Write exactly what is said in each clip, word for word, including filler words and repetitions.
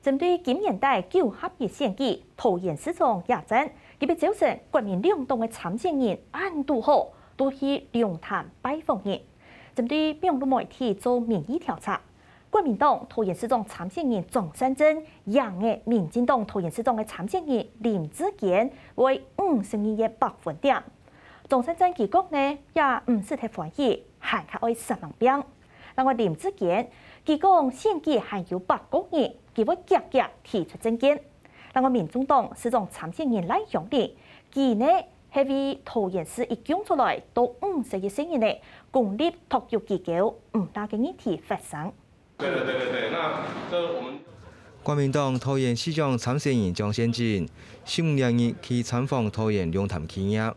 針對今年底九合一選舉，桃園市長野戰，今晡朝晨國民兩黨个參選人恁堵好，都去龍潭拜訪人。針對網路媒體做民意調查，國民黨桃園市長參選人張善政贏个民進黨桃園市長个參選人林智堅會五十二个百分點。張善政佢講呢，也毋使忒歡喜，還較愛煞猛拚。另外林智堅，佢講選舉還有八個月，佢會遽遽提出政見。另外民眾黨市長參選人賴香伶，佢呢係為桃園市一共出來到五十一歲人呢，公立托育機構毋罅个議題發聲。對對對對對，那這我們 國民黨桃園市長參選人張善政，十五日去參訪桃園龍潭企業，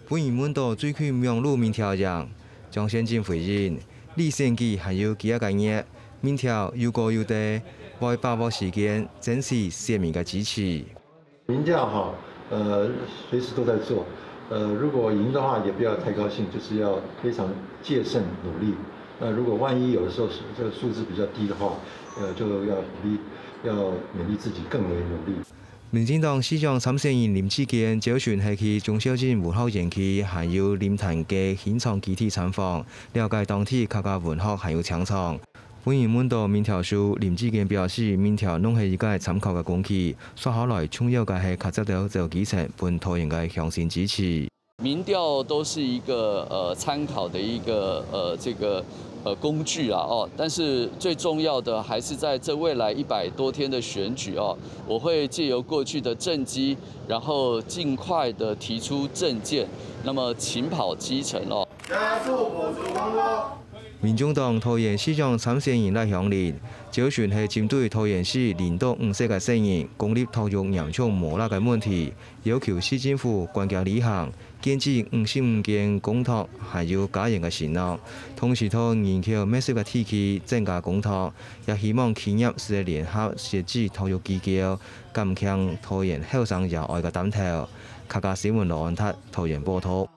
分人問到最近網路民調贏，張善政回應：離選舉還有幾下個月，民調有高有低，會把握時間爭取選民个支持。民調哈，呃，隨時都在做，呃，如果贏的話，也不要太高興，就是要非常戒慎努力。那如果萬一有的時候是這個數字比較低的話，呃，就要鼓勵，要勉勵自己更為努力。民進黨市長參選人林智堅朝晨係去忠孝鎮文學園區還有林潭个新莊基地參訪，了解當地客家文學還有青創。分人問到民調數，林智堅表示，民調攏係一個參考个工具，接下來重要个係較接到基層，分桃園个鄉親支持。民調都是一個呃參考的一個呃這個呃工具啦哦，但是最重要的還是在這未來一百多天的選舉哦，我會藉由過去的政績，然後盡快的提出政見，那麼勤跑基層哦。加速補足工作。民眾黨桃園市長參選人賴香伶，朝晨係針對桃園市零到五歲个細人公立托育嚴重無罅个問題，要求市政府關鍵履行， 建置五十五間公托還有家園个承諾，同時在人口密集个地區增加公托，也希望企業係聯合設置托育機構，減輕桃園後生爺哀个擔頭。客家新聞羅安達桃園報導。